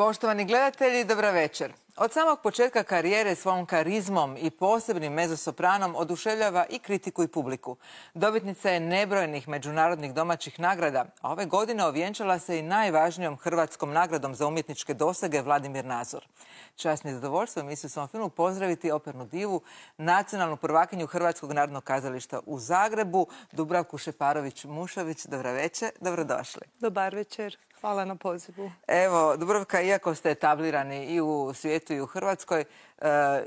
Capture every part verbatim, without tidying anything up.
Poštovani gledatelji, dobra večer. Od samog početka karijere svojom karizmom i posebnim mezosopranom oduševljava i kritiku i publiku. Dobitnica je nebrojenih međunarodnih domaćih nagrada, a ove godine ovjenčala se i najvažnijom hrvatskom nagradom za umjetničke dosege Vladimir Nazor. Čast mi je zadovoljstvo emisiju u svom filmu pozdraviti opernu divu, nacionalnu prvakinju Hrvatskog narodnog kazališta u Zagrebu, Dubravku Šeparović-Mušović. Dobra večer, dobrodošli. Dobar večer. Hvala na pozivu. Evo, Dubravka, iako ste etablirani i u svijetu i u Hrvatskoj, e,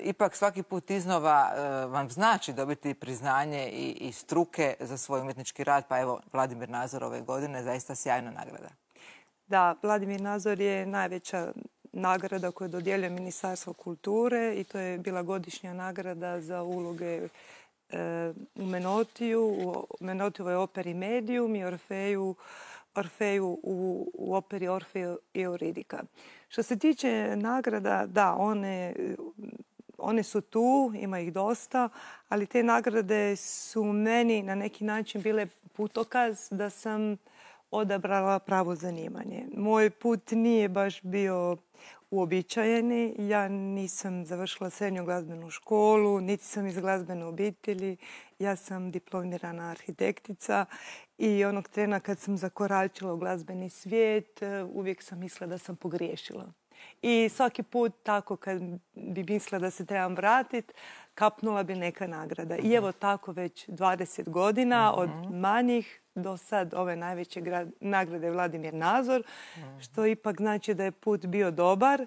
ipak svaki put iznova e, vam znači dobiti priznanje i, i struke za svoj umjetnički rad, pa evo, Vladimir Nazor ove godine, zaista sjajna nagrada. Da, Vladimir Nazor je najveća nagrada koju dodjeljuje Ministarstvo kulture i to je bila godišnja nagrada za uloge e, u Menotiju, u Menotijevoj operi Medium i Orfeju Orfeju u, u operi Orfeo i Euridika. Što se tiče nagrada, da, one, one su tu, ima ih dosta, ali te nagrade su meni na neki način bile putokaz da sam odabrala pravo zanimanje. Moj put nije baš bio uobičajeni. Ja nisam završila srednju glazbenu školu, niti sam iz glazbene obitelji. Ja sam diplomirana arhitektica i onog trena kad sam zakoračila u glazbeni svijet, uvijek sam mislila da sam pogriješila. I svaki put tako kad bi mislila da se trebam vratiti, kapnula bi neka nagrada. I evo tako već dvadeset godina, od manjih do sad ove najveće nagrade Vladimir Nazor, što ipak znači da je put bio dobar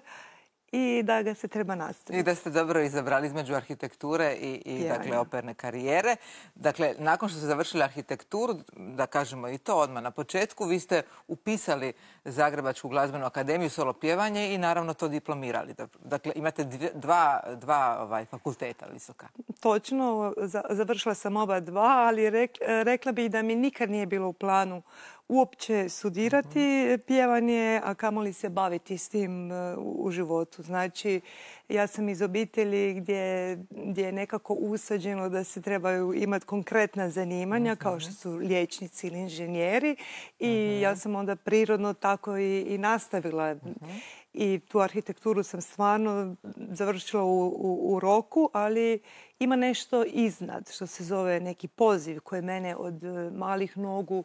i da ga se treba nastaviti. I da ste dobro izabrali između arhitekture i, i ja, dakle, ja. operne karijere. Dakle, nakon što ste završili arhitekturu, da kažemo i to odmah na početku, vi ste upisali Zagrebačku glazbenu akademiju, solo pjevanje i naravno to diplomirali. Dakle, imate dvije, dva, dva ovaj, fakulteta visoka. Točno, završila sam oba dva, ali rek, rekla bih da mi nikad nije bilo u planu uopće studirati pjevanje, a kamoli se baviti s tim u životu. Znači, ja sam iz obitelji gdje, gdje je nekako usađeno da se trebaju imati konkretna zanimanja, kao što su liječnici ili inženjeri. I ja sam onda prirodno tako i, i nastavila. I tu arhitekturu sam stvarno završila u, u, u roku, ali ima nešto iznad, što se zove neki poziv koji mene od malih nogu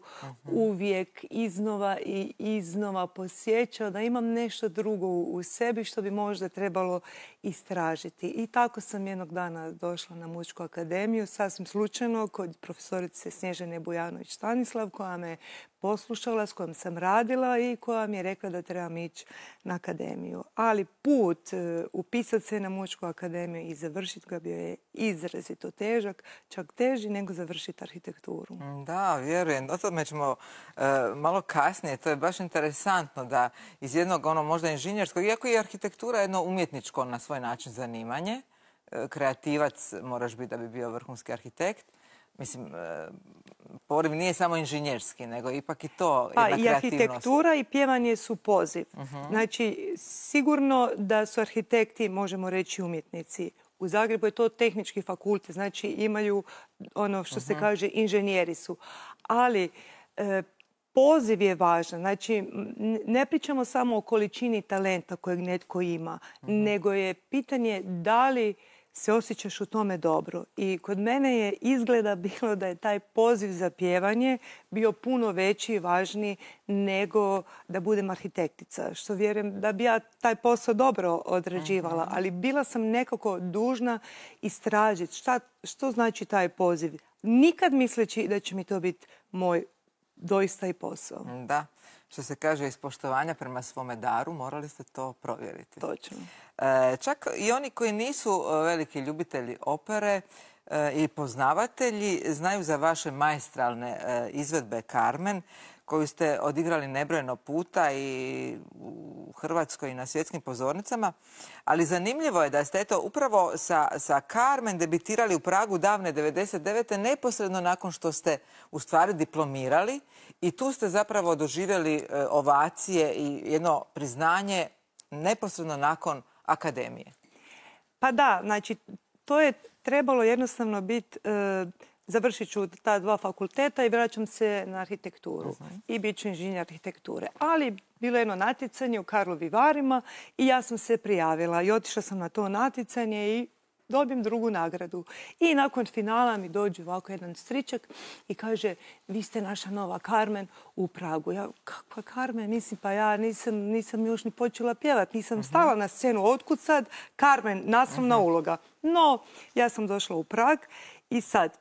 uvijek iznova i iznova posjećao da imam nešto drugo u sebi što bi možda trebalo istražiti. I tako sam jednog dana došla na Muzičku akademiju, sasvim slučajno, kod profesorice Snježane Bujanović-Stanislav, koja me poslušala, s kojom sam radila i koja mi je rekla da trebam ići na akademiju. Ali put upisati se na Muzičku akademiju i završiti ga bio je izrazito težak, čak teži nego završiti arhitekturu. Da, vjerujem. O tome ćemo e, malo kasnije. To je baš interesantno da iz jednog ono možda inženjerskog, iako je arhitektura jedno umjetničko na svoj način zanimanje, e, kreativac moraš biti da bi bio vrhunski arhitekt. Mislim, e, poriv nije samo inženjerski, nego ipak i to jedna pa, kreativnost. I arhitektura i pjevanje su poziv. Uh-huh. Znači, sigurno da su arhitekti, možemo reći, umjetnici. U Zagrebu je to tehnički fakultet, znači imaju ono što se kaže inženjeri su. Ali e, poziv je važan. Znači, ne pričamo samo o količini talenta kojeg netko ima, nego je pitanje da li se osjećaš u tome dobro. I kod mene je izgleda bilo da je taj poziv za pjevanje bio puno veći i važniji nego da budem arhitektica. Što vjerujem da bi ja taj posao dobro odrađivala, ali bila sam nekako dužna istražiti šta, što znači taj poziv. Nikad misleći da će mi to biti moj doista i posao. Da. Što se kaže iz poštovanja prema svome daru, morali ste to provjeriti. Točno. E, čak i oni koji nisu veliki ljubitelji opere e, i poznavatelji znaju za vaše maestralne e, izvedbe Carmen, koju ste odigrali nebrojeno puta i u Hrvatskoj i na svjetskim pozornicama. Ali zanimljivo je da ste eto upravo sa, sa Carmen debitirali u Pragu davne devedeset devete neposredno nakon što ste u stvari diplomirali i tu ste zapravo doživjeli e, ovacije i jedno priznanje neposredno nakon akademije. Pa da, znači to je trebalo jednostavno biti e, završit ću ta dva fakulteta i vraćam se na arhitekturu. Uh-huh. I bit ću inženjer arhitekture. Ali bilo je jedno natjecanje u Karlovim Varima i ja sam se prijavila i otišla sam na to natjecanje i dobijem drugu nagradu. I nakon finala mi dođe ovako jedan stričak i kaže, vi ste naša nova Carmen u Pragu. Ja, kakva Carmen? Mislim, pa ja nisam, nisam još ni počela pjevati. Nisam uh-huh. stala na scenu. Otkud sad Carmen, naslovna uh-huh. uloga? No, ja sam došla u Prag i sad,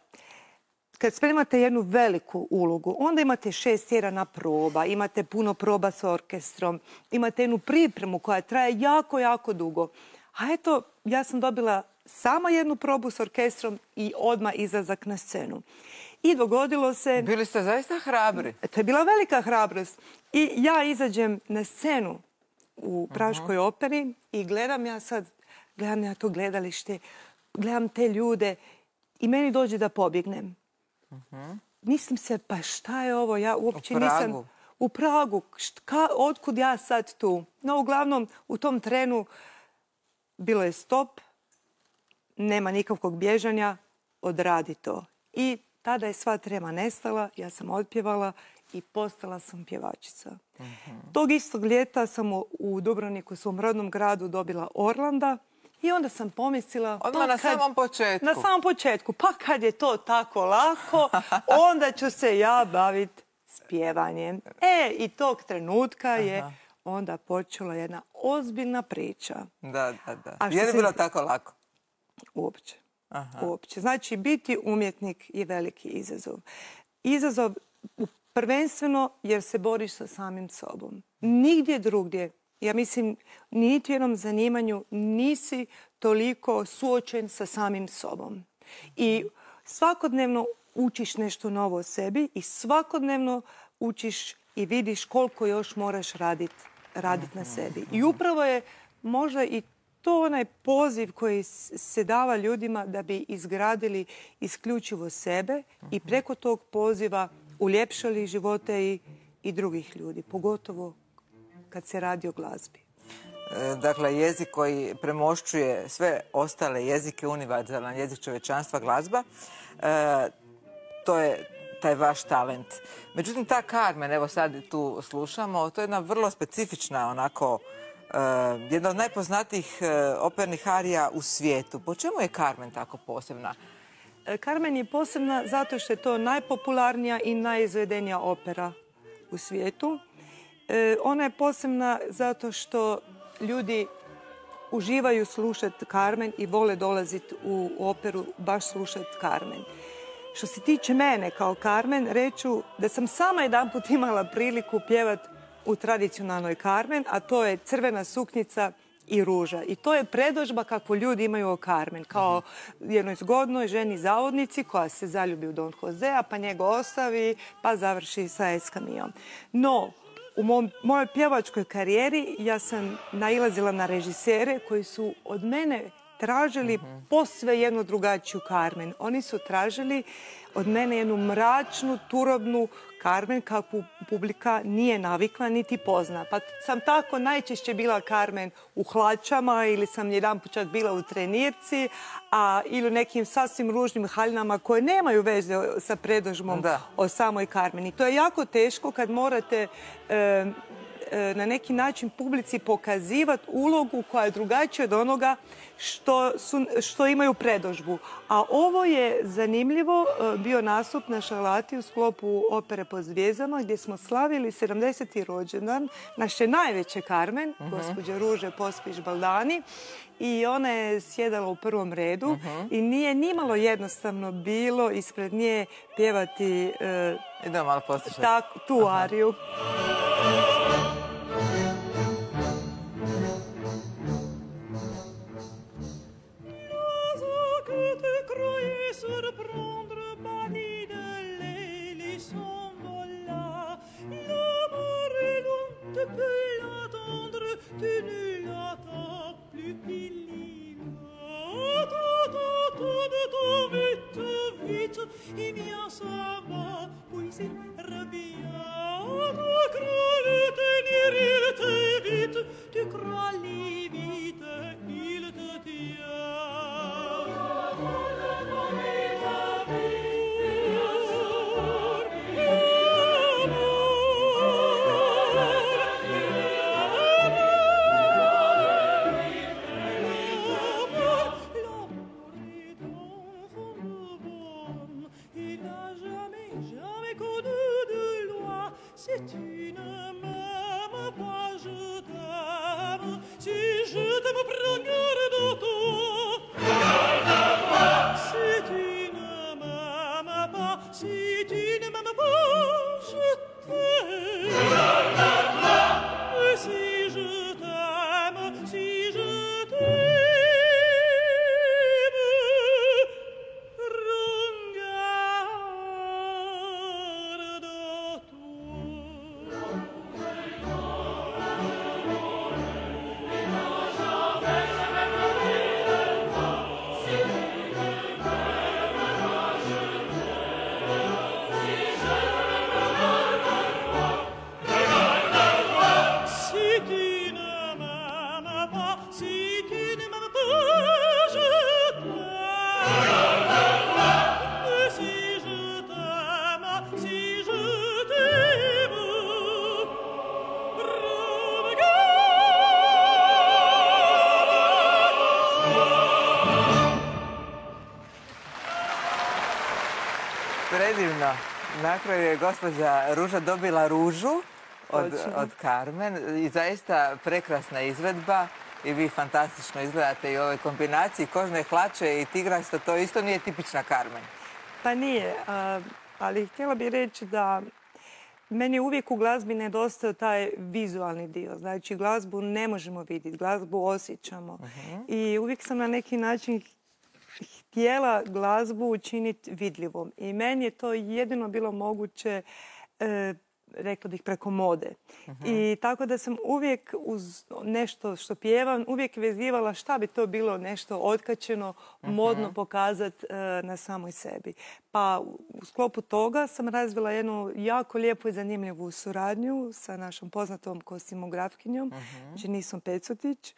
kad spremate jednu veliku ulogu, onda imate šest tjedana proba, imate puno proba s orkestrom, imate jednu pripremu koja traje jako, jako dugo. A eto, ja sam dobila samo jednu probu s orkestrom i odmah izlazak na scenu. I dogodilo se... Bili ste zaista hrabri. To je bila velika hrabrost. I ja izađem na scenu u Praškoj uh-huh. operi i gledam ja sad, gledam ja to gledalište, gledam te ljude i meni dođe da pobjegnem. Uh-huh. Mislim se, pa šta je ovo? Ja uopće u Pragu. nisam... U Pragu. Štka, otkud ja sad tu? No, uglavnom, u tom trenu bilo je stop, nema nikakvog bježanja, odradi to. I tada je sva trema nestala, ja sam otpjevala i postala sam pjevačica. Uh-huh. Tog istog ljeta sam u Dubrovniku, svom rodnom gradu, dobila Orlanda i onda sam pomislila... Odmah pa na kad, samom početku. Na samom početku. Pa kad je to tako lako, onda ću se ja baviti s pjevanjem. E, i tog trenutka je Aha. onda počela jedna ozbiljna priča. Da, da, da. Je li bilo se... tako lako? Uopće. Uopće. Znači, biti umjetnik je veliki izazov. Izazov prvenstveno jer se boriš sa samim sobom. Nigdje drugdje, ja mislim, niti u jednom zanimanju nisi toliko suočen sa samim sobom. I svakodnevno učiš nešto novo o sebi i svakodnevno učiš i vidiš koliko još moraš raditi radit na sebi. I upravo je možda i to onaj poziv koji se dava ljudima da bi izgradili isključivo sebe i preko tog poziva uljepšali živote i, i drugih ljudi, pogotovo kad se radi o glazbi. Dakle, jezik koji premošćuje sve ostale jezike, univerzalan jezik čovječanstva, glazba, e, to je taj vaš talent. Međutim, ta Carmen, evo sad tu slušamo, to je jedna vrlo specifična onako Uh, jedna od najpoznatijih uh, opernih arija u svijetu. Po čemu je Carmen tako posebna? Carmen je posebna zato što je to najpopularnija i najizvedenija opera u svijetu. Uh, ona je posebna zato što ljudi uživaju slušati Carmen i vole dolaziti u operu baš slušati Carmen. Što se tiče mene kao Carmen, reću da sam sama jedanput imala priliku pjevati u tradicionalnoj Carmen, a to je crvena suknjica i ruža. I to je predodžba kakvu ljudi imaju o Carmen. Kao jednoj zgodnoj ženi zavodnici koja se zaljubi u Don Josea, pa njega ostavi, pa završi sa Eskamijom. No, u mom, mojoj pjevačkoj karijeri ja sam nailazila na režisere koji su od mene tražili uh-huh. posve jednu drugačiju Carmen. Oni su tražili od mene jednu mračnu, turobnu Carmen kakvu publika nije navikla niti pozna. Pa sam tako najčešće bila Carmen u hlačama ili sam jedan put čak bila u trenirci, a ili u nekim sasvim ružnim haljinama koje nemaju veze sa predodžbom o samoj Carmen. I to je jako teško kad morate e, e, na neki način publici pokazivati ulogu koja je drugačija od onoga što, su, što imaju predodžbu. A ovo je zanimljivo bio nastup na Šarlati u sklopu opere Po zvijezdama gdje smo slavili sedamdeseti rođendan naše najveće Carmen, uh-huh. gospođe Ruže Pospiš-Baldani. I ona je sjedala u prvom redu uh-huh. i nije nimalo jednostavno bilo ispred nje pjevati uh, Idemo malo poslušati. Tak, tu uh-huh. ariju. E mia sava, poi si arrabbiata, credete Predivno. Na kraju je gospođa Ruža dobila ružu od, od Carmen i zaista prekrasna izvedba i vi fantastično izgledate i u ovoj kombinaciji kožne hlače i tigrasta, to isto nije tipična Carmen. Pa nije, ali htjela bih reći da meni uvijek u glazbi nedostaje taj vizualni dio. Znači, glazbu ne možemo vidjeti, glazbu osjećamo. Uh-huh. I uvijek sam na neki način htjela glazbu učiniti vidljivom. I meni je to jedino bilo moguće, e, rekla bih, preko mode. Uh-huh. I tako da sam uvijek uz nešto što pjevam, uvijek vezivala šta bi to bilo nešto otkačeno, uh-huh. modno pokazati e, na samoj sebi. Pa u sklopu toga sam razvila jednu jako lijepu i zanimljivu suradnju sa našom poznatom kostimografkinjom, uh-huh. Dženisom Pecotić,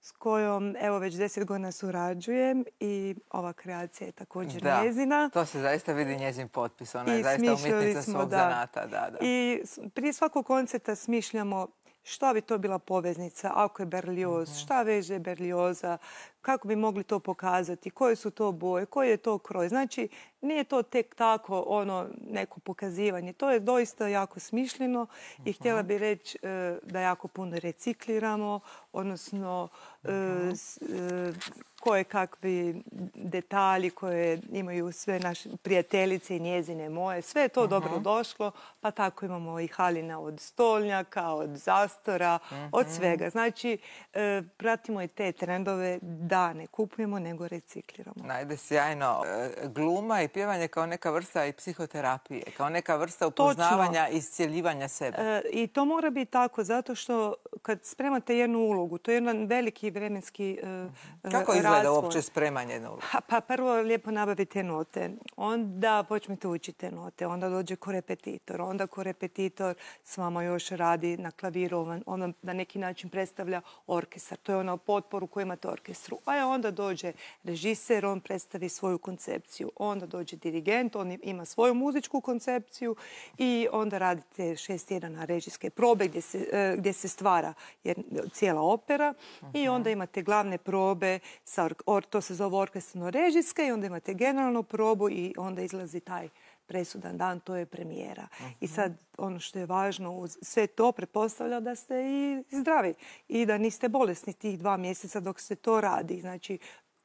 s kojom evo već deset godina surađujem i ova kreacija je također da, njezina. To se zaista vidi njezin potpis. Ona je zaista umjetnica svog da. zanata. Da, da. I prije svakog koncerta smišljamo šta bi to bila poveznica, ako je Berlioz, mm-hmm. šta veže Berlioza, kako bi mogli to pokazati, koje su to boje, koji je to kroj. Znači, nije to tek tako ono neko pokazivanje. To je doista jako smišljeno i htjela bih reći e, da jako puno recikliramo, odnosno e, s, e, koje kakvi detalji koje imaju sve naše prijateljice i njezine moje. Sve je to uh-huh. dobro došlo, pa tako imamo i haljina od stolnjaka, od zastora, uh-huh. od svega. Znači, e, pratimo i te trendove da ne kupujemo, nego recikliramo. Najde sjajno. Gluma i pjevanje kao neka vrsta i psihoterapije, kao neka vrsta upoznavanja i iscjeljivanja sebe. E, I to mora biti tako, zato što kad spremate jednu ulogu, to je jedan veliki vremenski e, Kako izgleda razvoj. Uopće spremanje jednu ulogu? Pa prvo lijepo nabavite note, onda počnete učiti note, onda dođe korepetitor, onda korepetitor s vama još radi na klaviru, on na neki način predstavlja orkestar. To je ono potporu koju imate orkestru. A onda dođe režiser, on predstavi svoju koncepciju. Onda dođe dirigent, on ima svoju muzičku koncepciju i onda radite šest tjedana režijske probe gdje se, gdje se stvara cijela opera. Uh-huh. I onda imate glavne probe, sa, to se zove orkestrno-režijske i onda imate generalnu probu i onda izlazi taj presudan dan, to je premijera. Uh-huh. I sad ono što je važno, uz sve to pretpostavlja da ste i zdravi i da niste bolesni tih dva mjeseca dok se to radi. Znači,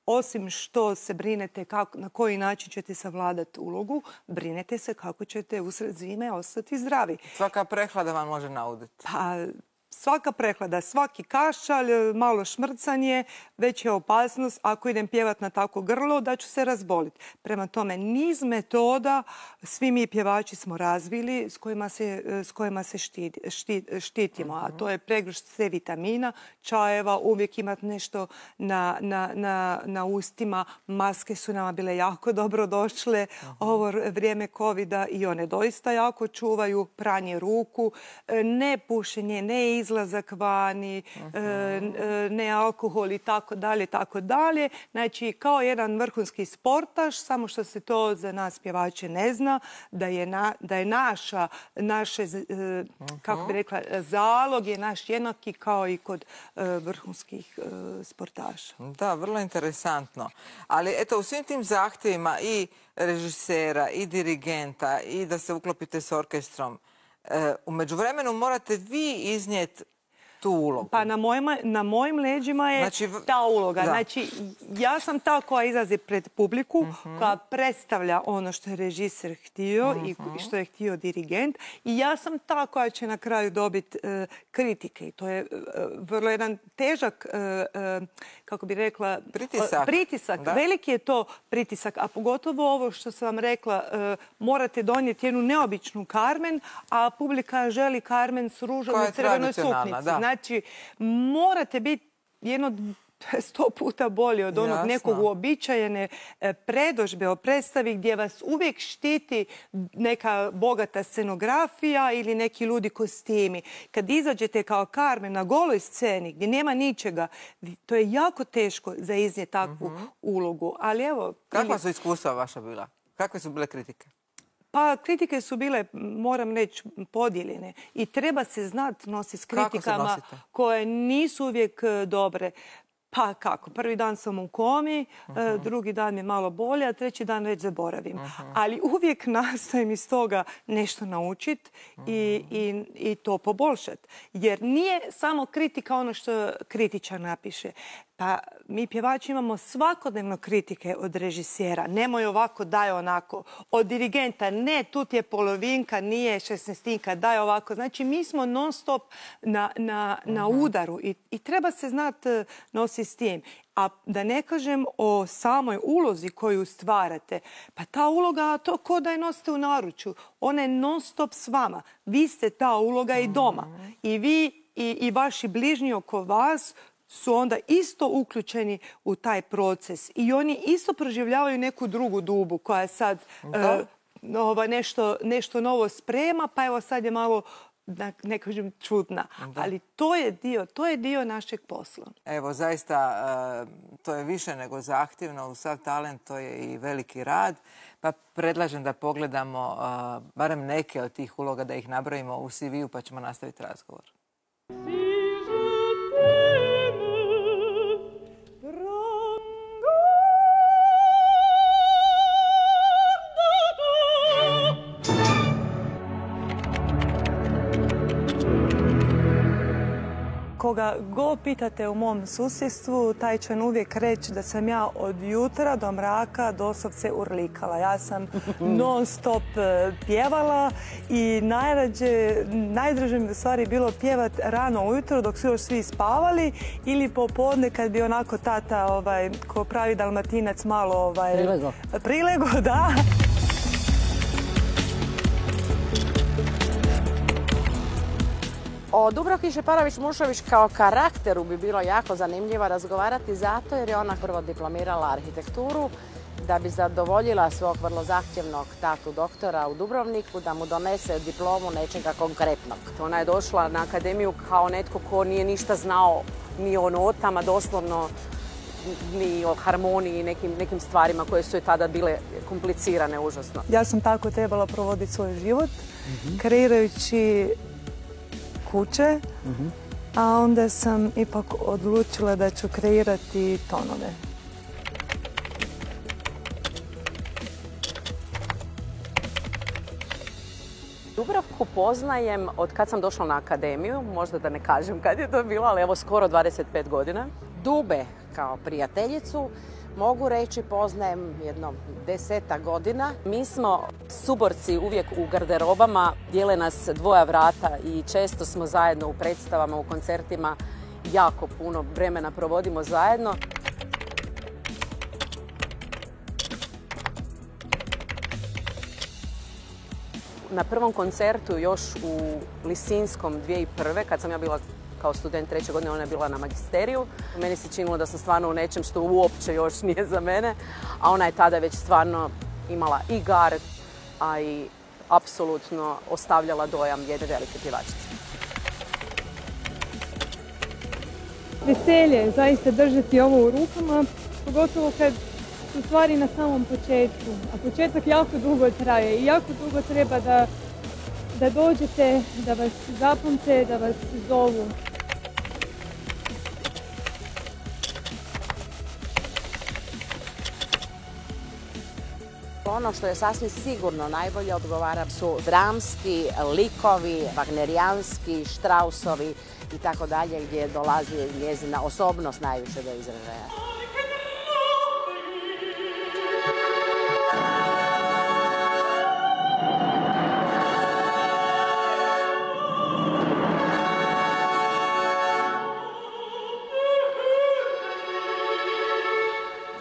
osim što se brinete kako, na koji način ćete savladati ulogu, brinete se kako ćete usred zime ostati zdravi. Svaka prehlada vam može nauditi. Pa, svaka prehlada, svaki kašalj, malo šmrcanje, već je opasnost ako idem pjevat na tako grlo da ću se razboliti. Prema tome, niz metoda svi mi pjevači smo razvili s kojima se, s kojima se štit, štit, štitimo. A to je pregršt C vitamina, čajeva, uvijek imati nešto na, na, na, na ustima. Maske su nama bile jako dobro došle ovo vrijeme covida i one doista jako čuvaju. Pranje ruku, ne pušenje, ne izlazak vani, uh-huh. ne alkohol i tako dalje, tako dalje. Znači, kao jedan vrhunski sportaš, samo što se to za nas pjevače ne zna, da je, na, da je naša, naše, uh-huh. kako bi rekla, zalog je naš jednaki kao i kod uh, vrhunskih uh, sportaša. Da, vrlo interesantno. Ali eto, u svim tim zahtjevima i režisera, i dirigenta, i da se uklopite s orkestrom, U međuvremenu morate vi iznijeti tu ulogu. Pa na, mojima, na mojim leđima je znači, ta uloga. Da. Znači, ja sam ta koja izlazi pred publiku, uh-huh. koja predstavlja ono što je režiser htio uh-huh. i što je htio dirigent. I ja sam ta koja će na kraju dobiti uh, kritike. I to je uh, vrlo jedan težak, uh, uh, kako bi rekla... Pritisak. Uh, pritisak. Veliki je to pritisak. A pogotovo ovo što sam vam rekla, uh, morate donijeti jednu neobičnu Carmen, a publika želi Carmen s ružom u crvenoj suknici. Da. Znači, morate biti jedno sto puta bolje od onog Jasno. nekog uobičajene predožbe o predstavi gdje vas uvijek štiti neka bogata scenografija ili neki ludi kostimi. Kad izađete kao Carmen na goloj sceni gdje nema ničega, to je jako teško za iznijeti takvu uh-huh. ulogu. Ali evo... Kakva su iskustva vaša bila? Kakve su bile kritike? Pa kritike su bile, moram reći, podijeljene. I treba se znati nositi s kritikama koje nisu uvijek dobre. Pa kako? Prvi dan sam u komi, uh-huh. drugi dan je malo bolje, a treći dan već zaboravim. Uh-huh. Ali uvijek nastojim iz toga nešto naučiti uh-huh. i, i, i to poboljšati. Jer nije samo kritika ono što kritičar napiše. Pa mi pjevači imamo svakodnevno kritike od režisera. Nemoj ovako, daj onako. Od dirigenta, ne, tu ti je polovinka, nije šesnaestinka, daj ovako. Znači, mi smo non stop na, na, na udaru i, i treba se znati nositi s tim. A da ne kažem o samoj ulozi koju stvarate. Pa ta uloga, to ko da je nosite u naručju. Ona je non stop s vama. Vi ste ta uloga i doma. I vi i, i vaši bližnji oko vas su onda isto uključeni u taj proces. I oni isto proživljavaju neku drugu dubu koja sad uh, ova, nešto, nešto novo sprema, pa evo sad je malo, ne kažem, čudna. Da. Ali to je dio, to je dio našeg posla. Evo, zaista, uh, to je više nego zahtjevno. U sav talent to je i veliki rad. Pa predlažem da pogledamo uh, barem neke od tih uloga, da ih nabrojimo u C V-u, pa ćemo nastaviti razgovor. Koga go pitate u mom susjedstvu, taj će uvijek reći da sam ja od jutra do mraka doslovce urlikala. Ja sam non stop pjevala i najrađe, najdraže mi u stvari bilo pjevat rano ujutro dok su još svi spavali ili popodne kad bi onako tata, ovaj, ko pravi Dalmatinac, malo ovaj, prilego. Prilego, da. O Dubravki Šeparović-Mušović kao karakteru bi bilo jako zanimljivo razgovarati zato jer je ona prvo diplomirala arhitekturu da bi zadovoljila svog vrlo zahtjevnog tatu doktora u Dubrovniku da mu donese diplomu nečega konkretnog. Ona je došla na akademiju kao netko ko nije ništa znao ni o notama, doslovno ni o harmoniji i nekim, nekim stvarima koje su je tada bile komplicirane užasno. Ja sam tako trebala provoditi svoj život, mm-hmm. kreirajući kuće, uh-huh. a onda sam ipak odlučila da ću kreirati tonove. Dubravku poznajem od kad sam došla na akademiju, možda da ne kažem kad je to bilo, ali evo skoro dvadeset pet godina. Dube kao prijateljicu mogu reći poznajem jedno desetak godina. Mi smo suborci uvijek u garderobama, dijele nas dvoja vrata i često smo zajedno u predstavama, u koncertima. Jako puno vremena provodimo zajedno. Na prvom koncertu još u Lisinskom dvije tisuće prve. kad sam ja bila kao student treće godine, ona je bila na magisteriju. Meni se činilo da sam stvarno u nečem što uopće još nije za mene, a ona je tada već stvarno imala i gar, a i apsolutno ostavljala dojam jedne velike pjevačice. Veselje, zaista držati ovo u rukama, pogotovo kad su stvari na samom početku. A početak jako dugo traje i jako dugo treba da, da dođete, da vas zapamte, da vas zovu. ono što je sasvim sigurno najbolje odgovara su dramski likovi, wagnerijanski, Strausovi i tako dalje, gdje dolazi njezina osobnost najviše do izražaja.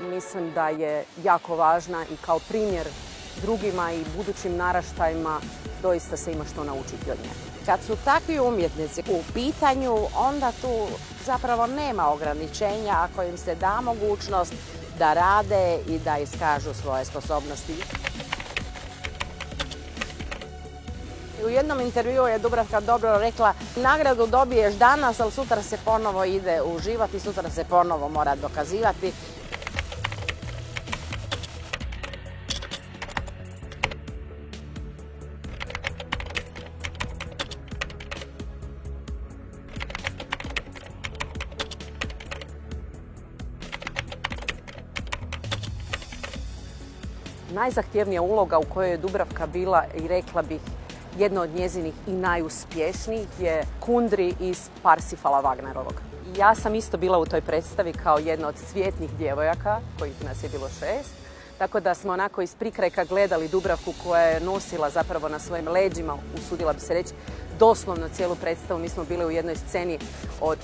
Mislim da je jako važna i kao primjer drugima i budućim naraštajima doista se ima što naučiti od nje. Kad su takvi umjetnici u pitanju, onda tu zapravo nema ograničenja ako im se da mogućnost da rade i da iskažu svoje sposobnosti. U jednom intervjuu je Dubravka dobro rekla, nagradu dobiješ danas, ali sutra se ponovo ide u život i sutra se ponovo mora dokazivati. Najzahtjevnija uloga u kojoj je Dubravka bila i rekla bih jedna od njezinih i najuspješnijih je Kundry iz Parsifala Wagnerovog. Ja sam isto bila u toj predstavi kao jedna od cvjetnih djevojaka, kojih nas je bilo šest, tako da smo onako iz prikrajka gledali Dubravku koja je nosila zapravo na svojim leđima, usudila bi se reći, doslovno cijelu predstavu. Mi smo bili u jednoj sceni od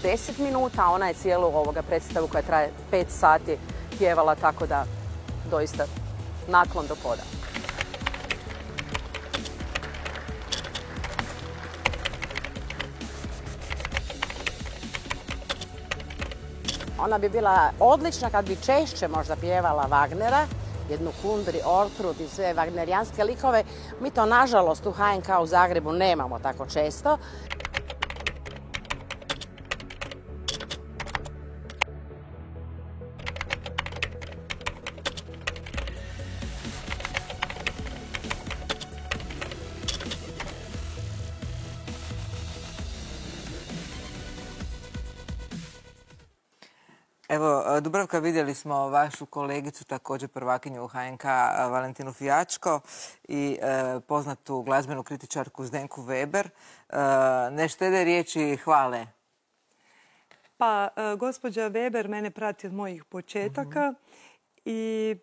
deset minuta, a ona je cijelu ovoga predstavu koja traje pet sati pjevala, tako da doista naklon do poda. Ona bi bila odlična kad bi češće možda pjevala Wagnera, jednu Kundry, Ortrud i sve wagnerijanske likove. Mi to nažalost u H N K u Zagrebu nemamo tako često. Evo, Dubravka, vidjeli smo vašu kolegicu, također prvakinju u H N K, Valentinu Fijačko i e, poznatu glazbenu kritičarku Zdenku Weber. E, ne štede riječi hvale. Pa, e, gospođa Weber mene prati od mojih početaka i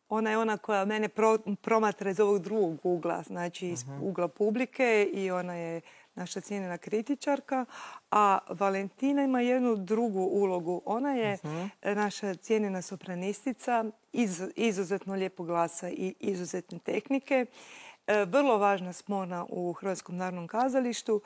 ona je ona koja mene pro, promatra iz ovog drugog ugla, znači iz ugla publike, i ona je naša cijenjena kritičarka, a Valentina ima jednu drugu ulogu. Ona je uh-huh. naša cijenjena sopranistica, iz, izuzetno lijepog glasa i izuzetne tehnike. E, vrlo važna spona u Hrvatskom narodnom kazalištu,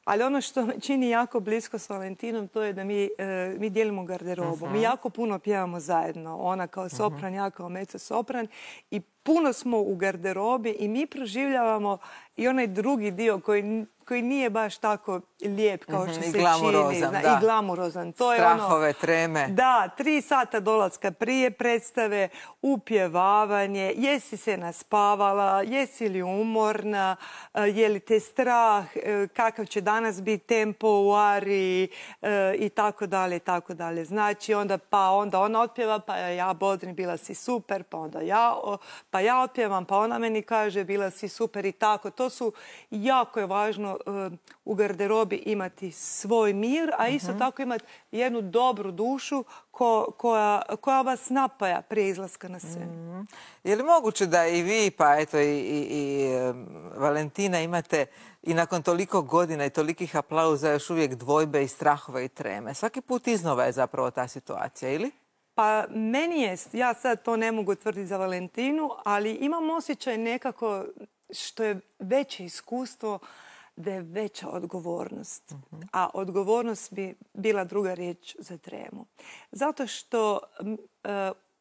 ali ono što me čini jako blisko s Valentinom, to je da mi, e, mi dijelimo garderobu. Uh-huh. Mi jako puno pjevamo zajedno. Ona kao sopran, uh-huh. ja kao mezzo sopran, i puno smo u garderobi i mi proživljavamo i onaj drugi dio koji koji nije baš tako lijep kao što mm-hmm, se čini. Zna, da. I glamurozan. To Strahove, je ono, treme. Da, tri sata dolaska prije predstave, upjevavanje, jesi se naspavala, jesi li umorna, je li te strah, kakav će danas biti tempo u ariji i tako dalje, i tako dalje. Znači, onda, pa onda ona otpjeva, pa ja bodrim, bila si super, pa onda ja, pa ja otpjevam, pa ona meni kaže, bila si super i tako. To su, jako je važno u garderobi imati svoj mir, a isto uh-huh. tako imati jednu dobru dušu ko, koja, koja vas napaja prije izlaska na scenu. Uh-huh. Je li moguće da i vi, pa eto i, i, i Valentina, imate i nakon toliko godina i tolikih aplauza još uvijek dvojbe i strahove i treme? Svaki put iznova je zapravo ta situacija, ili? Pa meni je, ja sad to ne mogu tvrditi za Valentinu, ali imam osjećaj nekako što je veće iskustvo, da je veća odgovornost. Uh-huh. A odgovornost bi bila druga riječ za tremu. Zato što uh,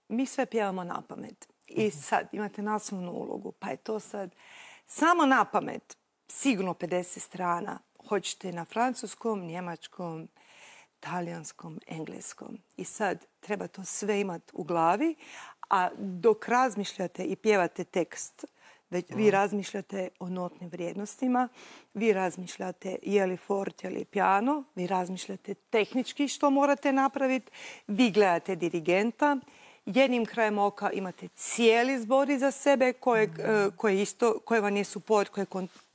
mi sve pjevamo na pamet. I sad imate naslovnu ulogu, pa je to sad samo na pamet, sigurno pedeset strana. Hoćete na francuskom, njemačkom, talijanskom, engleskom. I sad treba to sve imati u glavi, a dok razmišljate i pjevate tekst, već vi razmišljate o notnim vrijednostima, vi razmišljate je li forte ili piano, vi razmišljate tehnički što morate napraviti, vi gledate dirigenta jednim krajem oka imate cijeli zbor iza sebe koje, koje, isto, koje vam je suport, koje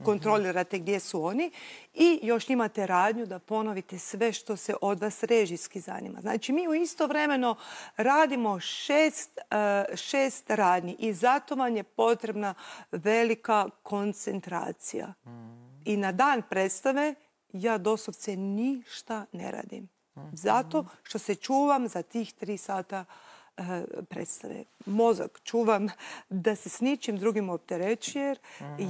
kontrolirate gdje su oni i još imate radnju da ponovite sve što se od vas režijski zanima. Znači mi u istovremeno radimo šest, šest radnji i zato vam je potrebna velika koncentracija. I na dan predstave ja doslovce ništa ne radim. Zato što se čuvam za tih tri sata predstave. Mozak čuvam da se s ničim drugim opterećuje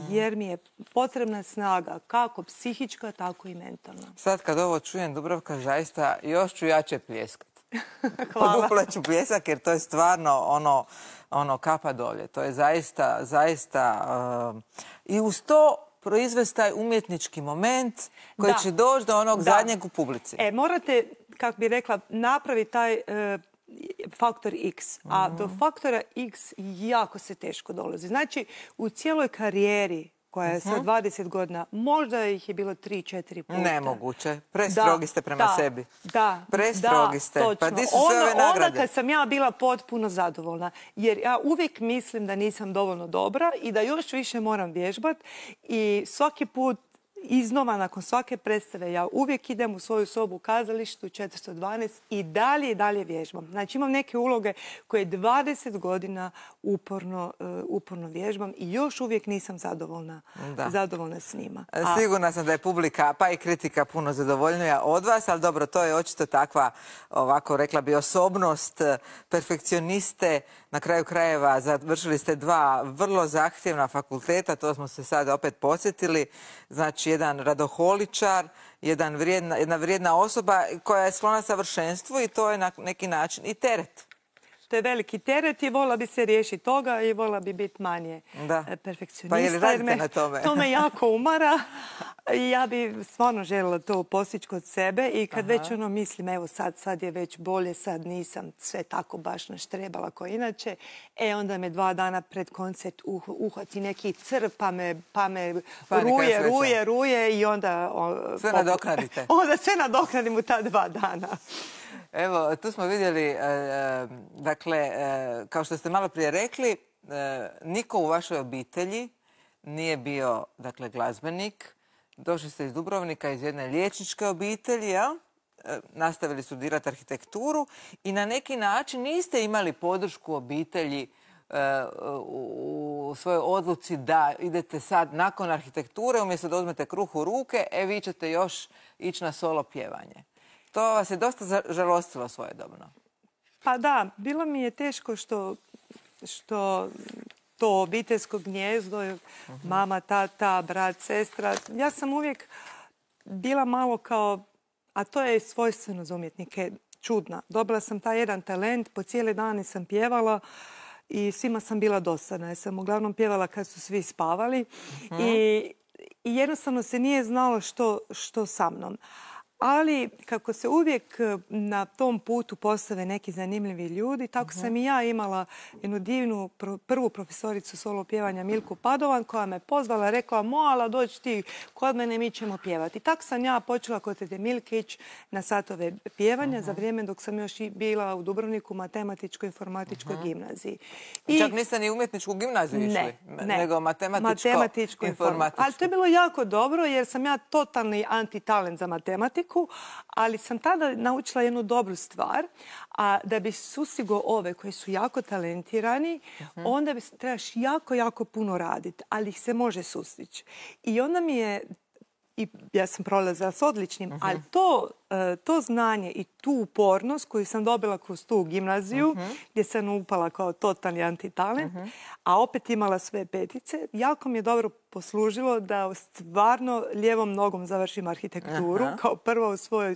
jer mi je potrebna snaga kako psihička, tako i mentalna. Sad kad ovo čujem, Dubravka, zaista još ću jače pljeskati. Hvala. Poduplaću pljesak jer to je stvarno ono, ono kapa dolje. To je zaista, zaista uh, i uz to proizvesti taj umjetnički moment koji Da. će doći do onog Da. zadnjeg u publici. E, morate, kako bi rekla, napraviti taj e, faktor X. A do faktora X jako se teško dolazi. Znači, u cijeloj karijeri koja je sad dvadeset godina, možda ih je bilo tri četiri puta. Nemoguće. Prestrogi ste prema da, sebi. Da, Prestrogi da, ste. točno. Pa di su sve onda, ove nagrade? Onda kad sam ja bila potpuno zadovoljna. Jer ja uvijek mislim da nisam dovoljno dobra i da još više moram vježbati. I svaki put iznova, nakon svake predstave, ja uvijek idem u svoju sobu u kazalištu četiristo dvanaest i dalje i dalje vježbam. Znači imam neke uloge koje dvadeset godina uporno, uh, uporno vježbam i još uvijek nisam zadovoljna, zadovoljna s njima. A... Sigurna sam da je publika, pa i kritika puno zadovoljnija od vas, ali dobro, to je očito takva, ovako rekla bi, osobnost perfekcioniste. Na kraju krajeva završili ste dva vrlo zahtjevna fakulteta, to smo se sad opet podsjetili. Znači, jedan radoholičar, jedan vrijedna, jedna vrijedna osoba koja je sklona savršenstvu i to je na neki način i teret. To je veliki teret i vola bi se riješiti toga i vola bi biti manje da. perfekcionista. Pa je li radite na tome? To me jako umara. Ja bi stvarno željela to postići kod sebe i kad Aha. već ono mislim, evo sad, sad je već bolje, sad nisam sve tako baš naštrebala kao inače, e onda me dva dana pred koncert uh, uhvati neki crv pa me, pa me ruje, ruje, ruje i onda... O, sve nadoknadite. Onda sve nadoknadim u ta dva dana. Evo, tu smo vidjeli, e, dakle, e, kao što ste malo prije rekli, e, niko u vašoj obitelji nije bio, dakle, glazbenik. Došli ste iz Dubrovnika, iz jedne liječničke obitelji, ja? E, nastavili studirati arhitekturu i na neki način niste imali podršku obitelji e, u, u svojoj odluci da idete sad nakon arhitekture, umjesto da uzmete kruh u ruke, e, vi ćete još ići na solo pjevanje. To vas je dosta žalostilo svojedobno. Pa da, bilo mi je teško što, što to obiteljsko gnjezdo, uh-huh. mama, tata, brat, sestra. Ja sam uvijek bila malo kao, a to je svojstveno za umjetnike, čudna. Dobila sam taj jedan talent, po cijele dane sam pjevala i svima sam bila dosadna. Ja sam uglavnom pjevala kad su svi spavali uh-huh. i, i jednostavno se nije znalo što, što sa mnom. Ali kako se uvijek na tom putu postave neki zanimljivi ljudi, tako uh-huh. sam i ja imala jednu divnu pro, prvu profesoricu solo pjevanja Milku Padovan koja me pozvala, rekla Moala dođi ti kod mene, mi ćemo pjevati. Tako sam ja počela kod tete Milkić na satove pjevanja uh-huh. za vrijeme dok sam još i bila u Dubrovniku matematičko-informatičkoj uh-huh. gimnaziji. I čak niste ni umjetničku gimnaziju išli, ne, ne. nego matematičko-informatičku. Ali to je bilo jako dobro jer sam ja totalni antitalent za matematiku. Ali sam tada naučila jednu dobru stvar, a da bi sustigo ove koji su jako talentirani, uh-huh. onda bi, trebaš jako, jako puno raditi, ali ih se može sustići. I onda mi je, i ja sam prolazila s odličnim, uh-huh. ali to, to znanje i tu upornost koju sam dobila kroz tu gimnaziju, uh-huh. gdje sam upala kao totalni antitalent, uh-huh. a opet imala sve petice, jako mi je dobro poslužilo da stvarno lijevom nogom završim arhitekturu, uh-huh. kao prva u svojoj,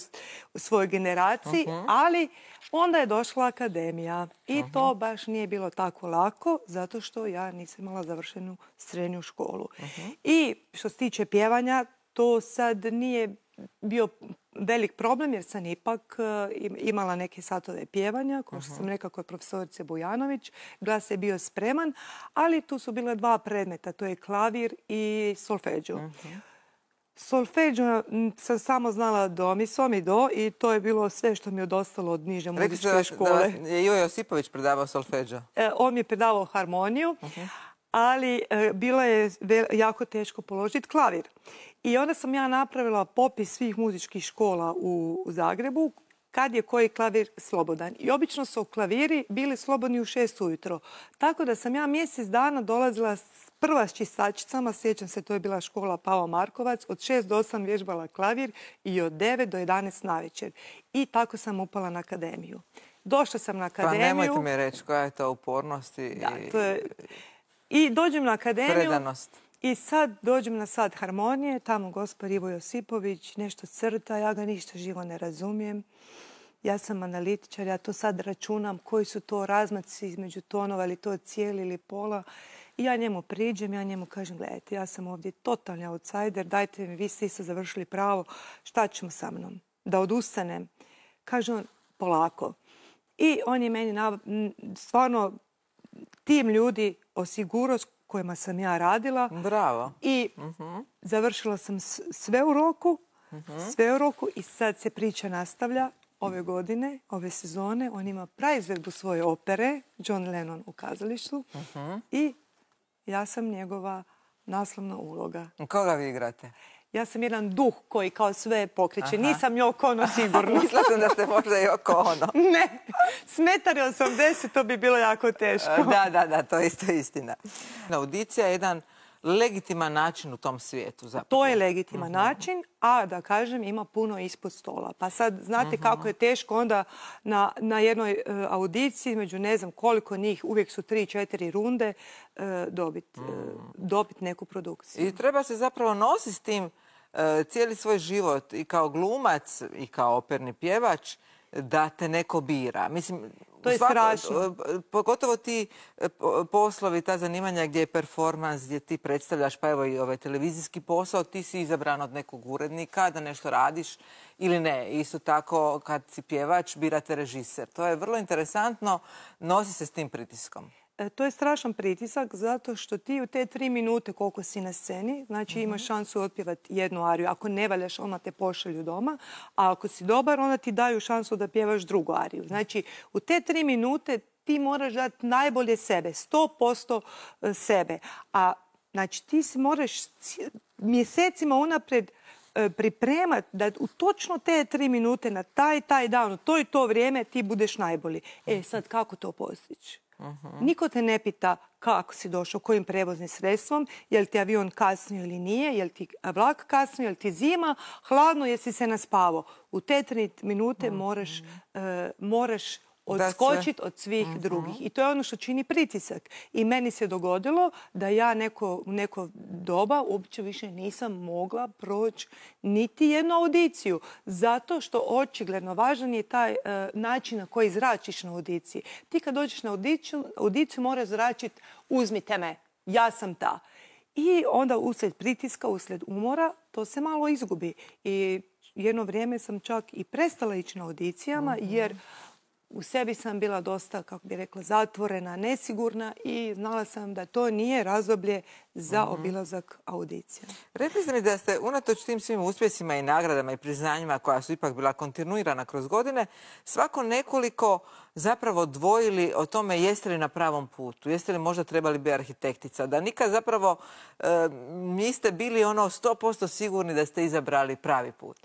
u svojoj generaciji, uh-huh. ali onda je došla akademija i uh-huh. to baš nije bilo tako lako, zato što ja nisam imala završenu srednju školu. Uh-huh. I što se tiče pjevanja, to sad nije bio velik problem jer sam ipak imala neke satove pjevanja, kao što sam rekla kod profesorice Bujanović. Glas je bio spreman, ali tu su bile dva predmeta, to je klavir i solfeđo. Solfeđo sam samo znala do mi, so mi do i to je bilo sve što mi je ostalo od niže muzičke škole. Rekli ste da je Ivo Josipović predavao solfeđo? On mi je predavao harmoniju, ali bilo je jako teško položiti klavir. I onda sam ja napravila popis svih muzičkih škola u Zagrebu kad je koji klavir slobodan. I obično su klaviri bili slobodni u šest ujutro. Tako da sam ja mjesec dana dolazila prva s čistačicama, sjećam se, to je bila škola Pavo Markovac, od šest do osam vježbala klavir i od devet do jedanaest navečer. I tako sam upala na akademiju. Došla sam na akademiju. Pa nemojte mi reći koja je to upornost i... Da, to je... I dođem na akademiju. Predanost. I sad dođem na sat harmonije, tamo gospod Ivo Josipović nešto crta, ja ga ništa živo ne razumijem. Ja sam analitičar, ja to sad računam koji su to razmaci između tonova, ili to cijeli ili pola. I ja njemu priđem, ja njemu kažem, gledajte, ja sam ovdje totalni outsider, dajte mi, vi ste isto završili pravo, šta ćemo sa mnom? Da odustanem? Kaže on, polako. I on je meni stvarno tim ljudi osigurao s kojima sam ja radila. Bravo. I završila sam sve u roku, sve u roku i sad se priča nastavlja. Ove godine, ove sezone, on ima praizvedbu svoje opere, John Lennon u kazalištu, i ja sam njegova naslovna uloga. Koga vi igrate? Ja sam jedan duh koji kao sve pokreće. Nisam Yoko Ono sigurno. Mislila sam da ste možda Yoko Ono. Ne, smetari osamdeset, to bi bilo jako teško. Da, da, da, to je isto istina. Audicija je jedan legitiman način u tom svijetu. Zapravo. To je legitiman način, a da kažem ima puno ispod stola. Pa sad znate kako je teško onda na, na jednoj uh, audiciji, među ne znam koliko njih, uvijek su tri, četiri runde, uh, dobiti uh, dobit neku produkciju. I treba se zapravo nositi s tim uh, cijeli svoj život i kao glumac i kao operni pjevač da te neko bira. Mislim, to je svako, strašno. Pogotovo ti poslovi, ta zanimanja gdje je performans, gdje ti predstavljaš, pa evo i ovaj televizijski posao, ti si izabran od nekog urednika da nešto radiš ili ne. Isto tako kad si pjevač, birate režiser. To je vrlo interesantno, nosi se s tim pritiskom. To je strašan pritisak zato što ti u te tri minute koliko si na sceni, znači imaš šansu otpjevati jednu ariju. Ako ne valjaš, onda te pošalju doma, a ako si dobar, onda ti daju šansu da pjevaš drugu ariju. Znači, u te tri minute ti moraš dati najbolje sebe, sto posto sebe. A znači, ti se moraš mjesecima unaprijed pripremati da u točno te tri minute na taj, taj dan, u to i to vrijeme ti budeš najbolji. E, sad kako to postići? Uh-huh. Niko te ne pita kako si došao, kojim prevoznim sredstvom, je li ti avion kasnio ili nije, je li ti vlak kasnio, je li ti zima, hladno, jesi se naspavao. U te tri minute uh-huh. moraš, uh, moraš odskočiti od svih uh-huh. drugih. I to je ono što čini pritisak. I meni se dogodilo da ja neko, u neko doba uopće više nisam mogla proći niti jednu audiciju. Zato što očigledno važan je taj uh, način na koji zračiš na audiciji. Ti kad dođeš na audiciju, audiciju moraš zračiti uzmite me, ja sam ta. I onda uslijed pritiska, uslijed umora, to se malo izgubi. I jedno vrijeme sam čak i prestala ići na audicijama uh-huh. jer u sebi sam bila dosta, kako bi rekla, zatvorena, nesigurna i znala sam da to nije razdoblje za obilazak audicija. Rekli ste mi da ste unatoč tim svim uspjesima i nagradama i priznanjima koja su ipak bila kontinuirana kroz godine, svako nekoliko zapravo dvojili o tome jeste li na pravom putu, jeste li možda trebali biti arhitektica, da nikad zapravo e, niste bili ono sto posto sigurni da ste izabrali pravi put.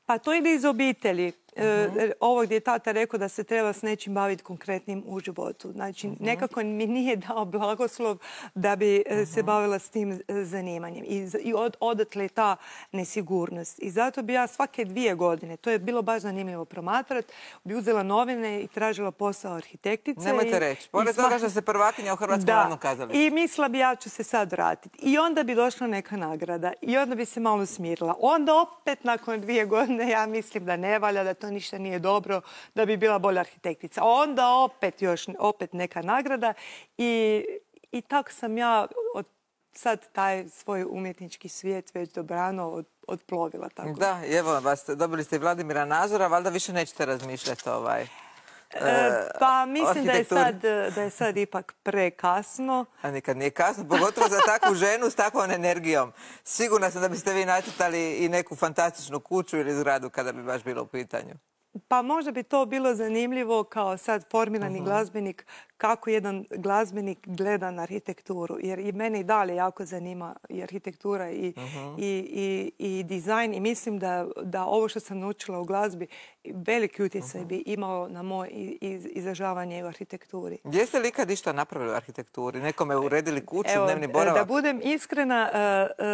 Pa to ide iz obitelji. Uh-huh. Ovo gdje je tata rekao da se treba s nečim baviti konkretnim u životu. Znači, uh-huh. nekako mi nije dao blagoslov da bi uh-huh. se bavila s tim zanimanjem. I, i od, odatle ta nesigurnost. I zato bi ja svake dvije godine, to je bilo baš zanimljivo promatrati, bi uzela novine i tražila posao arhitektice. Nemojte reći. Pored toga što se prvakinja u Hrvatskom narodnom kazalištu. I mislila bi ja ću se sad vratiti. I onda bi došla neka nagrada. I onda bi se malo smirila. Onda opet nakon dvije godine ja mislim da ne valja, da to ništa nije dobro, da bi bila bolja arhitektica. Onda opet još opet neka nagrada i, i tako sam ja od sad taj svoj umjetnički svijet već dobrano od, odplovila. Tako. Da, evo vas, dobili ste Vladimira Nazora, valjda više nećete razmišljati ovaj... Pa mislim da je, sad, da je sad ipak prekasno. A nikad nije kasno, pogotovo za takvu ženu s takvom energijom. Sigurna sam da biste vi nacrtali i neku fantastičnu kuću ili zgradu kada bi baš bilo u pitanju. Pa možda bi to bilo zanimljivo kao sad formirani uh-huh. glazbenik, kako jedan glazbenik gleda na arhitekturu. Jer i mene i dalje jako zanima i arhitektura i, uh-huh. i, i, i dizajn. I mislim da, da ovo što sam naučila u glazbi veliki utjecaj uh-huh. bi imao na moje iz, izražavanje u arhitekturi. Jeste li ikad išta napravili u arhitekturi? Nekome uredili kuću, Evo, dnevni boravak? Da budem iskrena, uh,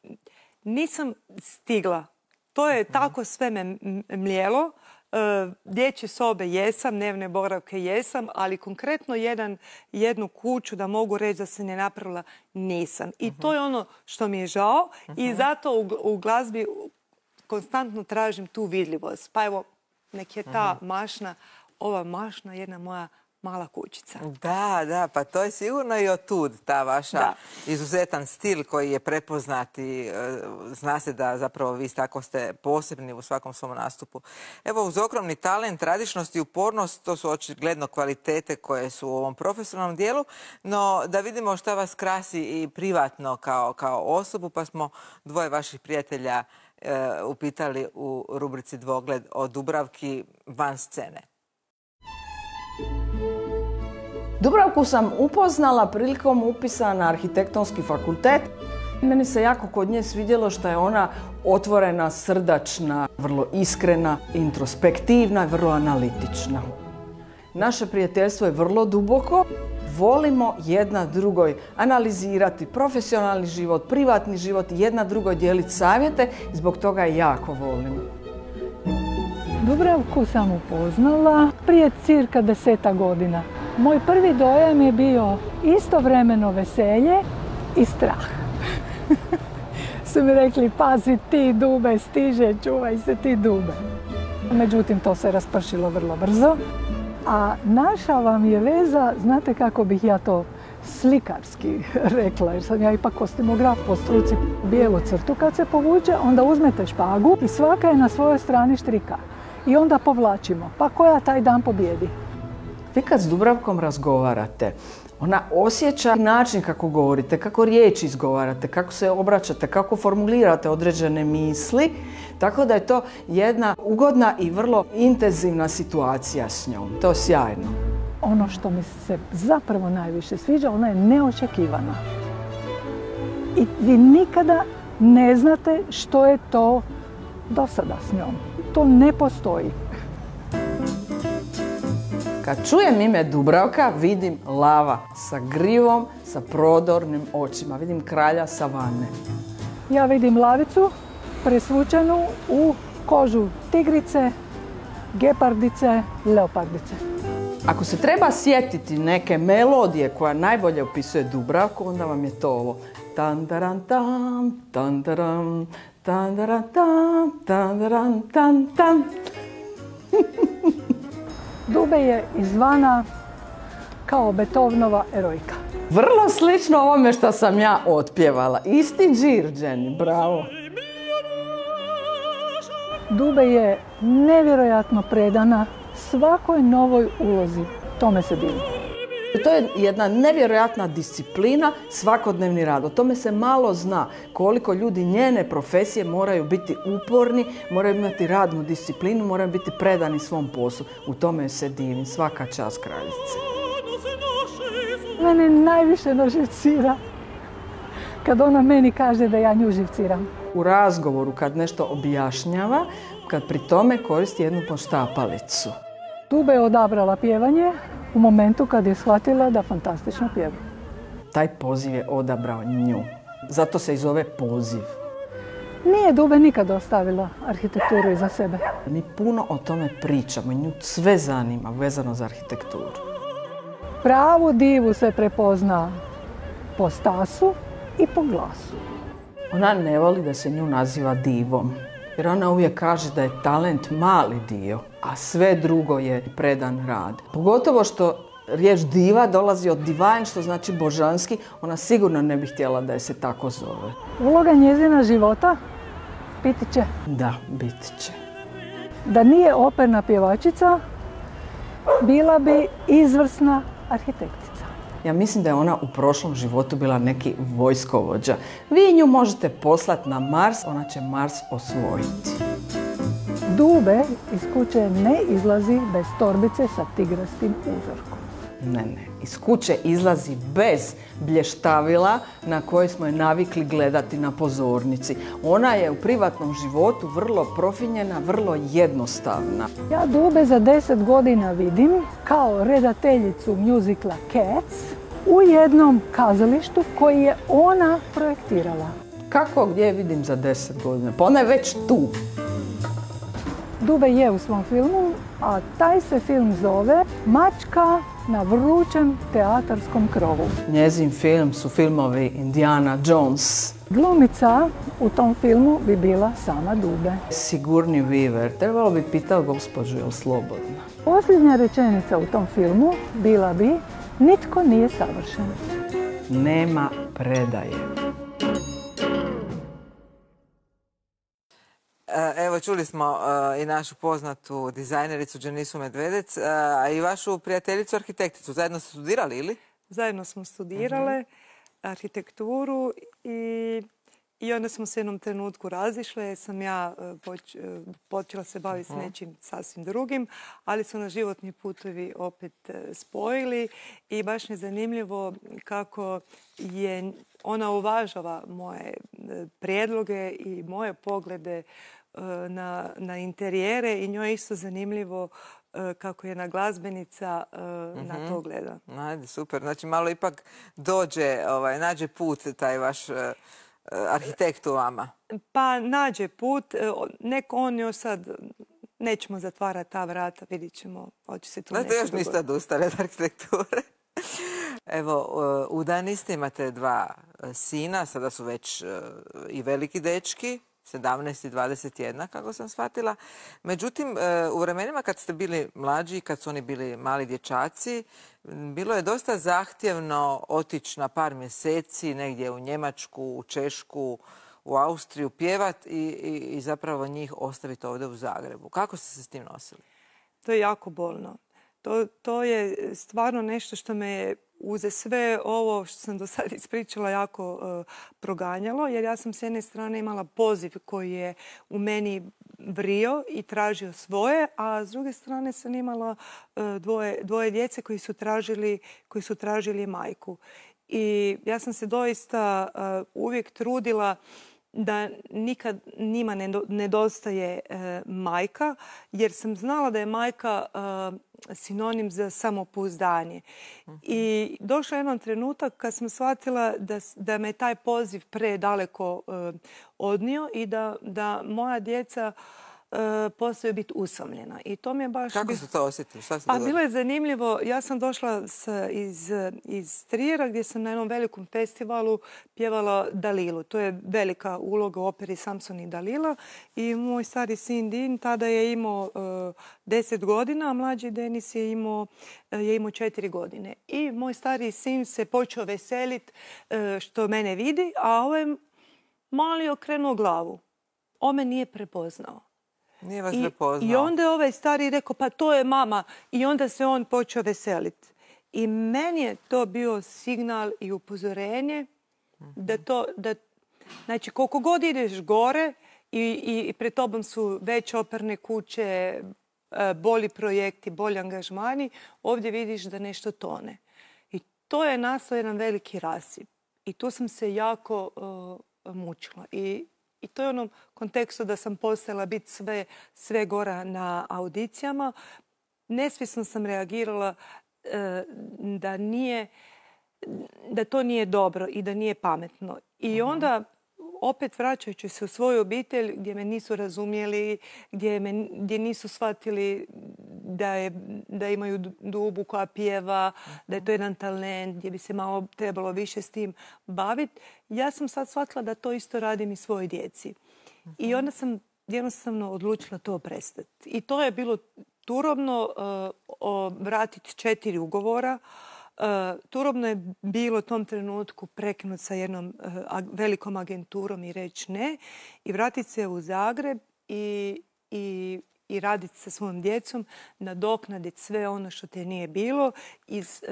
uh, nisam stigla. To je uh-huh. tako sve me mljelo. Uh, dječje sobe jesam, dnevne boravke jesam, ali konkretno jedan, jednu kuću da mogu reći da se ne napravila nisam. I uh-huh. to je ono što mi je žao uh-huh. i zato u, u glazbi konstantno tražim tu vidljivost. Pa evo, nek je ta uh-huh. mašna, ova mašna jedna moja mala kućica. Da, da, pa to je sigurno i otud ta vaša da. izuzetan stil koji je prepoznat i zna se da zapravo vi tako ste posebni u svakom svom nastupu. Evo, uz ogromni talent, radišnost i upornost, to su očigledno kvalitete koje su u ovom profesionalnom dijelu, no da vidimo šta vas krasi i privatno kao, kao osobu, pa smo dvoje vaših prijatelja e, upitali u rubrici Dvogled o Dubravki van scene. Dubravku sam upoznala prilikom upisa na arhitektonski fakultet. Meni se jako kod nje svidjelo što je ona otvorena, srdačna, vrlo iskrena, introspektivna i vrlo analitična. Naše prijateljstvo je vrlo duboko. Volimo jedna drugoj analizirati profesionalni život, privatni život i jedna drugoj dijeliti savjete i zbog toga je jako volim. Dubravku sam upoznala prije cirka deseta godina. Moj prvi dojam je bio istovremeno veselje i strah. Su mi rekli, pazi ti Dube, stiže, čuvaj se ti Dube. Međutim, to se raspršilo vrlo brzo. A naša vam je veza, znate kako bih ja to slikarski rekla, jer sam ja ipak kostimograf po struci, bijelu crtu kad se povuče, onda uzmete špagu i svaka je na svojoj strani štrika. I onda povlačimo, pa koja taj dan pobjedi. Vi kad s Dubravkom razgovarate, ona osjeća način kako govorite, kako riječi izgovarate, kako se obraćate, kako formulirate određene misli, tako da je to jedna ugodna i vrlo intenzivna situacija s njom. To je sjajno. Ono što mi se zapravo najviše sviđa, ona je neočekivana. I vi nikada ne znate što je to do sada s njom. To ne postoji. Kad čujem ime Dubravka, vidim lava sa grivom, sa prodornim očima. Vidim kralja savane. Ja vidim lavicu presvučenu u kožu tigrice, gepardice, leopardice. Ako se treba sjetiti neke melodije koja najbolje opisuje Dubravku, onda vam je to ovo. Tandaran tam, tandaram, tandaran tam, tandaran tam, tam. Dube je izvana kao Beethovenova erojka. Vrlo slično ovome što sam ja otpjevala. Isti džir, Jenny, bravo. Dube je nevjerojatno predana svakoj novoj ulozi. Tome se divi. To je jedna nevjerojatna disciplina, svakodnevni rad. O tome se malo zna koliko ljudi njene profesije moraju biti uporni, moraju imati radnu disciplinu, moraju biti predani svom poslu. U tome se divim. Svaka čast kraljice. Mene najviše naživcira kad ona meni kaže da ja nju živciram. U razgovoru kad nešto objašnjava, kad pri tome koristi jednu poštapalicu. Dube je odabrala pjevanje u momentu kad je shvatila da fantastično pjeva. Taj poziv je odabrao nju. Zato se i zove poziv. Nije Dube nikad ostavila arhitekturu iza sebe. Mi puno o tome pričamo i nju sve zanima vezano za arhitekturu. Pravu divu se prepozna po stasu i po glasu. Ona ne voli da se nju naziva divom. Jer ona uvijek kaže da je talent mali dio, a sve drugo je predan rad. Pogotovo što riječ diva dolazi od divine, što znači božanski, ona sigurno ne bi htjela da je se tako zove. Uloga njezina života biti će. Da, biti će. Da nije operna pjevačica, bila bi izvrsna arhitektica. Ja mislim da je ona u prošlom životu bila neki vojskovođa. Vi nju možete poslati na Mars, ona će Mars osvojiti. Dube iz kuće ne izlazi bez torbice sa tigrastim uzorkom. Ne, ne. Iz kuće izlazi bez blještavila na koje smo je navikli gledati na pozornici. Ona je u privatnom životu vrlo profinjena, vrlo jednostavna. Ja Dube za deset godina vidim kao redateljicu mjuzikla Cats u jednom kazalištu koji je ona projektirala. Kako gdje je vidim za deset godina? Pa ona je već tu. Dube je u svom filmu, a taj se film zove Mačka na vrućem teatarskom krovu. Njezin film su filmovi Indiana Jones. Glumica u tom filmu bi bila sama Dube. Sigourney Weaver. Trebalo bi pitao gospođu je li slobodna. Posljednja rečenica u tom filmu bila bi nitko nije savršen. Nema predaje. Evo, čuli smo i našu poznatu dizajnericu Đenisu Medvedec, a i vašu prijateljicu arhitekticu. Zajedno ste studirali, ili? Zajedno smo studirale arhitekturu i, i onda smo se jednom trenutku razišle. Jer sam ja poč, počela se baviti s nečim sasvim drugim, ali su nas životni putovi opet spojili i baš je zanimljivo kako je ona uvažava moje prijedloge i moje poglede na, na interijere i njoj je isto zanimljivo kako jedna glazbenica uh, na to gleda. Ajde, super. Znači malo ipak dođe, ovaj, nađe put taj vaš uh, arhitekt u vama. Pa nađe put. Nek on još sad, nećemo zatvarati ta vrata, vidit ćemo, hoće se tu nešto dogoditi. Još niste odustali od arhitekture. Evo, udani ste, imate dva sina, sada su već i veliki dečki, sedamnaest i dvadeset jedna, kako sam shvatila. Međutim, u vremenima kad ste bili mlađi, kad su oni bili mali dječaci, bilo je dosta zahtjevno otići na par mjeseci negdje u Njemačku, u Češku, u Austriju, pjevat i, i, i zapravo njih ostaviti ovdje u Zagrebu. Kako ste se s tim nosili? To je jako bolno. To, to je stvarno nešto što me je uze sve ovo što sam do sada ispričala jako uh, proganjalo, jer ja sam s jedne strane imala poziv koji je u meni vrio i tražio svoje, a s druge strane sam imala uh, dvoje, dvoje djece koji su tražili, koji su tražili majku. I ja sam se doista uh, uvijek trudila da nikad njima ne nedostaje e, majka, jer sam znala da je majka e, sinonim za samopouzdanje. Uh-huh. I došao je jedan trenutak kad sam shvatila da, da me taj poziv predaleko e, odnio i da, da moja djeca e, postaju biti usamljena. I to mi je baš... Kako ste to osjetili? Šta se pa bilo je zanimljivo. Ja sam došla s, iz, iz Trijera gdje sam na jednom velikom festivalu pjevala Dalilu. To je velika uloga u operi Samson i Dalila. I moj stari sin Din tada je imao deset godina, a mlađi Denis je imao, je imao četiri godine. I moj stari sin se počeo veseliti što mene vidi, a ovaj mali okrenuo glavu. On me nije prepoznao. Nije vas prepoznao. I onda je ovaj stari rekao, pa to je mama. I onda se on počeo veseliti. I meni je to bio signal i upozorenje da to, da, znači koliko god ideš gore i, i, i pred tobom su veće operne kuće, bolji projekti, bolji angažmani, ovdje vidiš da nešto tone. I to je nastao jedan veliki rasip. I tu sam se jako uh, mučila. I I to je u onom kontekstu da sam postala biti sve, sve gora na audicijama. Nesvjesno sam reagirala e, da, nije, da to nije dobro i da nije pametno. I onda, opet vraćajući se u svoju obitelj gdje me nisu razumjeli, gdje, me, gdje nisu shvatili da, je, da imaju Dubu koja pjeva, da je to jedan talent, gdje bi se malo trebalo više s tim baviti. Ja sam sad shvatila da to isto radim i svojoj djeci. Uh-huh. I onda sam jednostavno odlučila to prestati. I to je bilo turobno uh, vratiti četiri ugovora. Uh, turobno je bilo u tom trenutku prekinuti sa jednom uh, ag- velikom agenturom i reći ne. I vratiti se u Zagreb i, i, i raditi sa svojom djecom, nadoknaditi sve ono što te nije bilo, iz,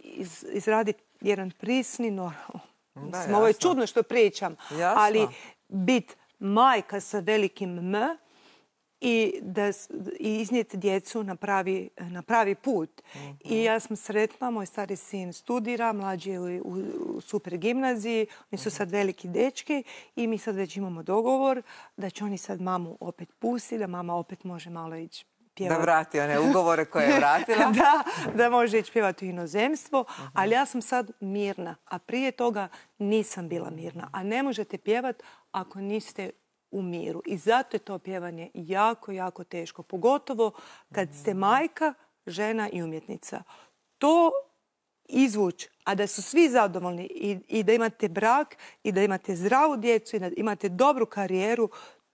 iz, izraditi jedan prisni, no, mislim, ovo je čudno što pričam, jasno. Ali bit majka sa velikim M i, da, i iznijeti djecu na pravi, na pravi put. Mm-hmm. I ja sam sretna, moj stari sin studira, mlađi je u, u, u super gimnaziji, oni su sad veliki dečki i mi sad već imamo dogovor da će oni sad mamu opet pustiti, da mama opet može malo ići pjevati. Da vrati one ugovore koje je vratila. da, da može ići pjevati u inozemstvo, uh-huh. ali ja sam sad mirna, a prije toga nisam bila mirna. A ne možete pjevati ako niste u miru. I zato je to pjevanje jako, jako teško. Pogotovo kad ste majka, žena i umjetnica. To izvući, a da su svi zadovoljni i, i da imate brak i da imate zdravu djecu i da imate dobru karijeru,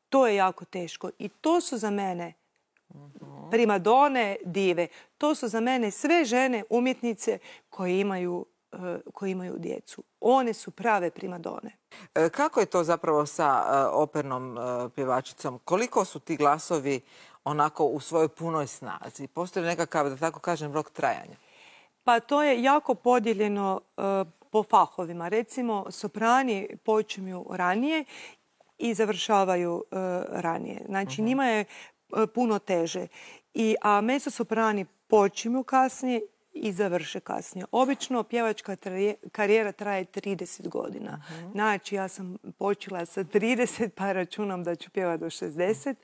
to je jako teško. I to su za mene primadone, dive. To su za mene sve žene umjetnice koje imaju, koje imaju djecu. One su prave primadone. Kako je to zapravo sa opernom pjevačicom? Koliko su ti glasovi onako u svojoj punoj snazi? Postoji nekakav, da tako kažem, rok trajanja? Pa to je jako podijeljeno uh, po fahovima. Recimo, soprani počinju ranije i završavaju uh, ranije. Znači, uh-huh. njima je uh, puno teže. I, a mezzosoprani počinju kasnije i završe kasnije. Obično pjevačka traje, karijera traje trideset godina. Uh-huh. Znači, ja sam počela sa trideset, pa računam da ću pjevati do šezdeset.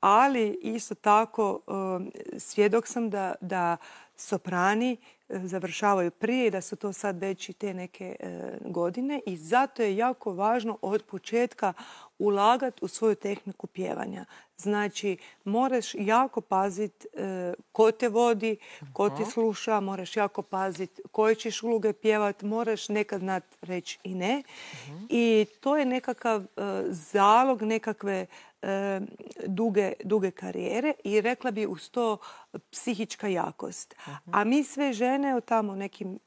Ali isto tako um, svjedok sam da, da soprani završavaju prije i da su to sad već i te neke e, godine i zato je jako važno od početka ulagati u svoju tehniku pjevanja. Znači, moraš jako paziti e, ko te vodi, ko te sluša, moraš jako paziti koje ćeš uloge pjevati, moraš nekad znat reći i ne. Uh-huh. I to je nekakav e, zalog nekakve e, duge, duge karijere i rekla bi uz to psihička jakost. Uh-huh. A mi sve žene u tamo nekim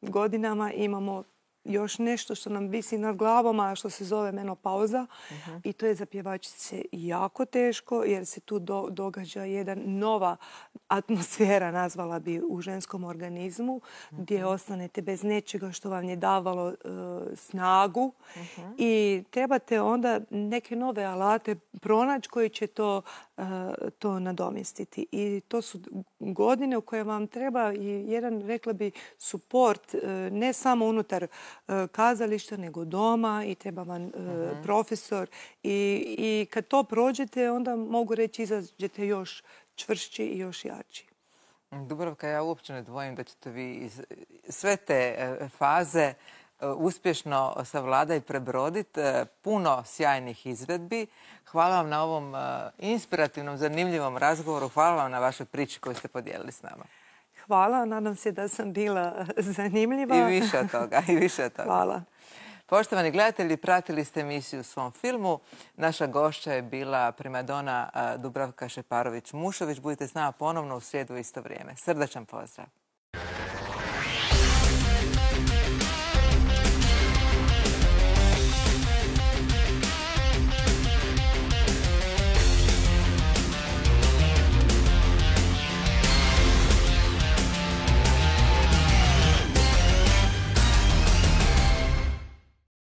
godinama imamo još nešto što nam visi nad glavom, a što se zove menopauza. Uh-huh. I to je za pjevačice jako teško jer se tu do, događa jedan nova atmosfera, nazvala bi, u ženskom organizmu, uh-huh. gdje ostanete bez nečega što vam je davalo uh, snagu. Uh-huh. I trebate onda neke nove alate pronaći koji će to, uh, to nadomjestiti. I to su godine u koje vam treba i jedan, rekla bi, suport, uh, ne samo unutar kazališta, nego doma i treba vam uh-huh. profesor. I, I kad to prođete, onda mogu reći izađete još čvršći i još jači. Dubravka, ja uopće ne dvojim da ćete vi iz sve te faze uspješno savladati i prebroditi. Puno sjajnih izvedbi. Hvala vam na ovom inspirativnom, zanimljivom razgovoru. Hvala vam na vašoj priči koju ste podijelili s nama. Hvala, nadam se da sam bila zanimljiva. I više od toga, i više od toga. Hvala. Poštovani gledatelji, pratili ste emisiju Svom filmu. Naša gošća je bila primadona Dubravka Šeparović-Mušović. Budite s nama ponovno u srijedu u isto vrijeme. Srdačan pozdrav.